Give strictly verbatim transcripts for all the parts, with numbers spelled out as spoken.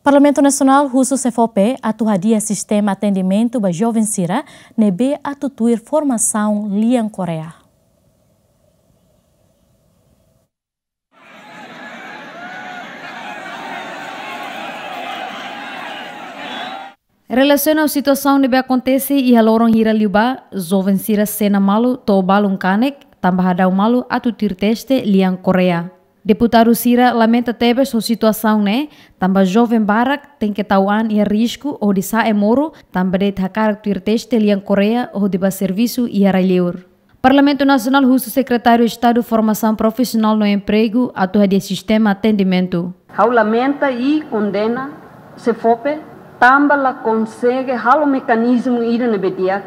Parlamentu Nasionál husu SEFOPE atu hadi'a sistema atendimentu ba joven sira ne'ebé atu tuir formasaun lian Koreia. Relasiona ho situasaun ne'ebé akontese iha loron hira liubá, joven sira sena malu to'o balun kanek, tanba hadau malu atu tuir teste lian Koreia. Deputadu sira lamenta tebes ho situasaun ne'e, tanba joven barak tenke tau an iha risku hodi sa'e moru, tanba de'it hakarak tuir teste lian Koreia hodi bá servisu iha rai-liur. Parlamentu Nasionál husu Sekretáriu Estadu Formasaun Profisionál no Empregu atu hadi'a sistema atendimentu. Ha'u lamenta i kondena SEFOPE tanba la konsege halo mekanizmu ida ne'ebé di'ak,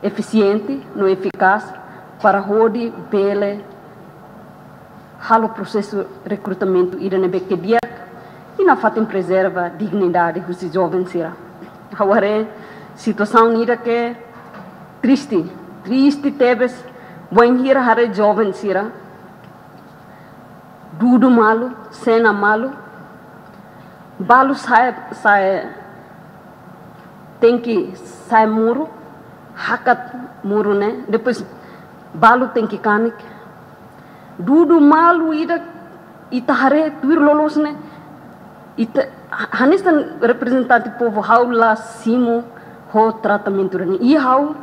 efisiente no efikás para hodi bele halo prosesu rekrutamentu ida ne'ebé ke di'ak i nafatin prezerva dignidade husi joven sira. Ha'u haree situasaun ida ke triste, triste tebes, bainhira haree joven sira dudu malu, sena malu, balu sa'e, sa'e tenke sa'e moru, hakat moru ne'e, depois balu tenke kanek. Dudu malu ida ita haree tuir loloos ne'e, ita ha-, hanesan reprezentante povu ha'u la simu ho tratamentu ne'e. I ha'u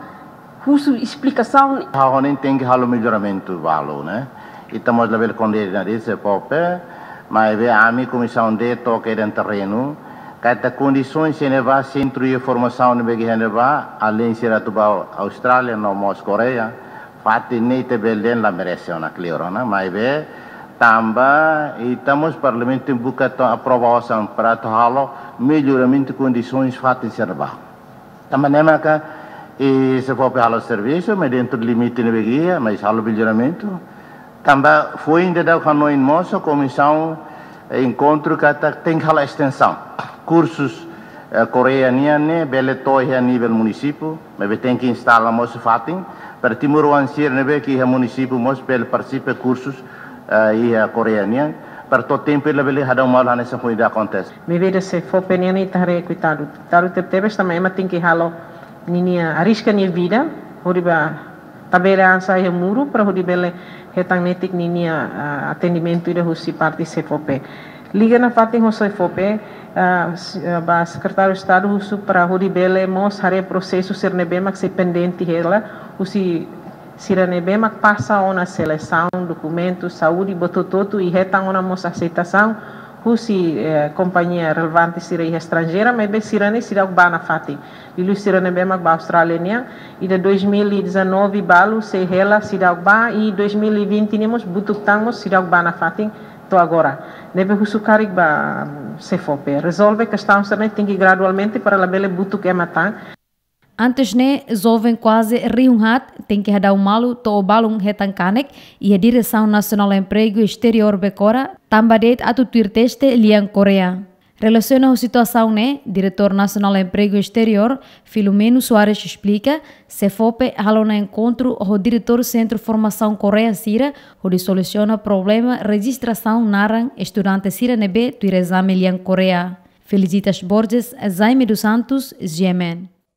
husu esplikasaun. Ha'u hanoin tenke halo melloramentu balu, ne'e. Ita mós labele kondena de'it SEFOPE, maibé ami Komisaun D toka iha terrenu, katak kondisaun sira ne'ebá, sentru iha formasaun ne'ebé iha ne'ebá, alin sira atu bá Austrália no mós Koreia, fatin ne'e ita bele dehan la merese ona kleur ona, maibé tanba ita mós Parlamentu buka atu aprova osan para atu halo melloramentu kondisaun fatin sira ne'ebá. Tanba ne'e maka, eh, SEFOPE halo servisu, mas dentru limite ne'ebé iha, mas halo melloramentu. Tanba foin daudauk hanoin mós, komisaun, eh, enkontru katak tenke halo estensaun. Kursus, eh, Koreia nian ne'e, bele to'o iha nivel munisípiu, maibé tenke instala mós fatin, para timoroan sira ne'ebé ke iha munisípiu mós bele partisipa kursus, eh, iha Koreia nian, para to'o tempu labele hadau malu hanesan foin daudauk akontese. Maibé ida SEFOPE nian ita haree koitadu. Koitadu tebetebes tanba ema tenke halo ninia, arriska nia vida, hodi bá tabele an sa'e iha muru, para hodi bele hetan netik ninia, ah, atendimentu ida husi parte SEFOPE. Liga nafatin ho SEFOPE, ah, s-, ah, ba Sekretáriu Estadu husu para hodi bele mós haree prosesu sira ne'ebé mak sei pendente hela, husi sira ne'ebé mak pasa ona selesaun, dokumentu, saúde, buat hotu-hotu i hetan ona mós aseitasaun husi, eh, kompañia relevante sira iha estranjeira, maibé sira ne'e seidauk bá nafatin. Liuliu sira ne'ebé mak bá Austrália nian, iha dois mil e dezanove balu sei hela seidauk bá, i dois mil e vinte ne'e mós butuk tan mós seidauk bá nafatin to'o agora. Ne'ebé husu karik ba, mm, SEFOPE rezolve kestaun sira ne'e tenke gradualmente para labele butuk ema tan. Antes ne'e, joven kuaze rihun haat tenke hadau malu to'o balun hetan kanek iha Diresaun Nasionál Empregu Esteriór Bekora, tanba de'it atu tuir teste lian Koreia. Relasiona ho situasaun ne'e, Diretór Nasionál Empregu Esteriór, Filomeno Soares esplika, SEFOPE halo ona enkontru ho diretór Sentru Formasaun Koreia sira, hodi solusiona problema rejistrasaun naran estudante sira ne'ebé tuir ezame lian Koreia. Felicitas Borges, Jaime dos Santos, G M N.